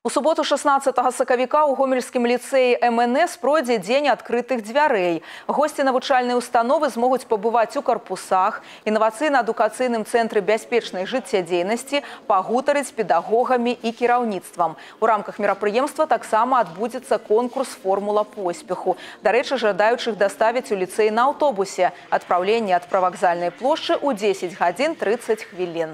У суботу 16 сакавіка ў гомельскім ліцэі МНС пройдзе дзень адкрытых дзвярэй. Госці навучальнай установы змогуць пабываць у карпусах, інавацыйна-адукацыйным цэнтры бяспечнай жыццядзейнасці, пагутарыць з педагогамі і кіраўніцтвам. У рамках мерапрыемства таксама адбудзецца конкурс «Формула поспеху». Дарэчы, жадаючых даставіць у ліцэй на аўтобусе. Адпраўленне ад прывакзальнай плошчы ў 10 гадзін 30 хвілін.